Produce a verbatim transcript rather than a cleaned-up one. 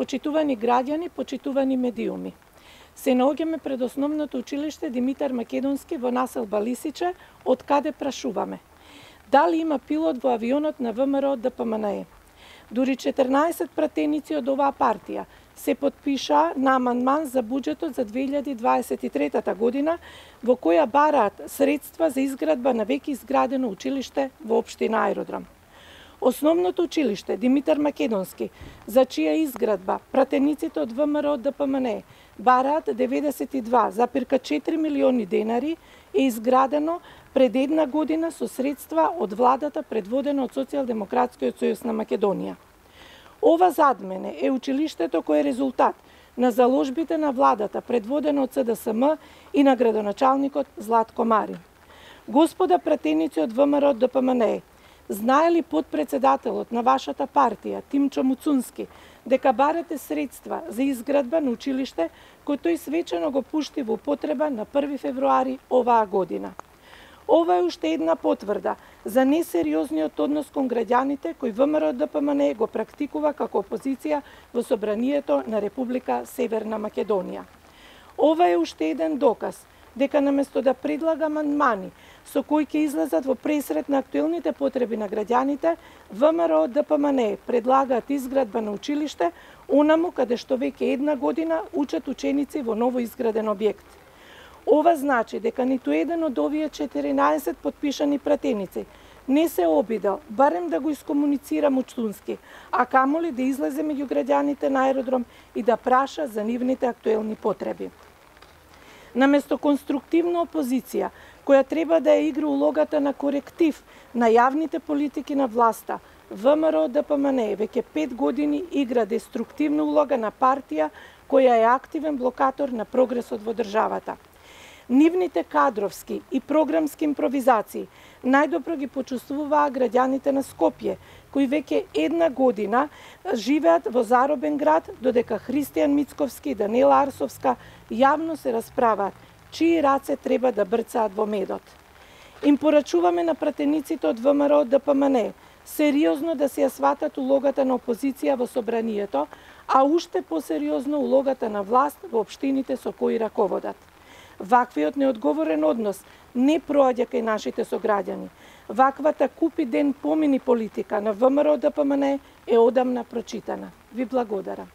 Почитувани граѓани, почитувани медиуми. Се наоѓаме пред основното училиште Димитар Македонски во населба Лисиче, од каде прашуваме. Дали има пилот во авионот на ВМРО Д П М Н Е? Дури четрнаесет пратеници од оваа партија се потпиша на амандман за буџетот за две илјади дваесет и трета година, во која бараат средства за изградба на веќе изградено училиште во општина Аеродром. Основното училиште Димитар Македонски, за чија изградба пратениците од ВМРО Д П М Н Е бараат деветдесет и два зарез четири милиони денари, е изградено пред една година со средства од владата предводена од Социјалдемократскиот сојуз на Македонија. Ова зад мене е училиштето кој е резултат на заложбите на владата предводена од С Д С М и на градоначалникот Златко Марин. Господа пратеници од ВМРО Д П М Н Е, знае ли подпредседателот на вашата партија, Тимчо Муцунски, дека барате средства за изградба на училиште кој тој свечено го пушти во употреба на први февруари оваа година? Ова е уште една потврда за несериозниот однос кон граѓаните кој ВМРО Д П М Н Е го практикува како опозиција во Собранието на Република Северна Македонија. Ова е уште еден доказ дека наместо да предлага амандмани со кои ќе излезат во пресрет на актуелните потреби на граѓаните, ВМРО Д П М Н Е предлагаат изградба на училиште онаму каде што веќе една година учат ученици во ново изграден објект. Ова значи дека ниту еден од овие четиринаесет потпишани пратеници не се обидел барем да го искомуницира Муцунски, а камоли да излезе меѓу граѓаните на Аеродром и да праша за нивните актуелни потреби. Наместо конструктивна опозиција, која треба да ја игра улогата на коректив на јавните политики на власта, ВМРО Д П М Н Е веќе пет години игра деструктивна улога на партија која е активен блокатор на прогресот во државата. Нивните кадровски и програмски импровизации најдобро ги почувствуваа граѓаните на Скопје, кои веќе една година живеат во заробен град, додека Христијан Мицковски и Даниела Арсовска јавно се расправаат чии раце треба да брцаат во медот. Им порачуваме на пратениците од ВМРО Д П М Н Е сериозно да се ја сватат улогата на опозиција во Собранието, а уште посериозно улогата на власт во општините со кои раководат. Ваквиот неодговорен однос не проаѓа кај нашите сограѓани. Ваквата купи ден помини политика на ВМРО Д П М Н Е е одамна прочитана. Ви благодарам.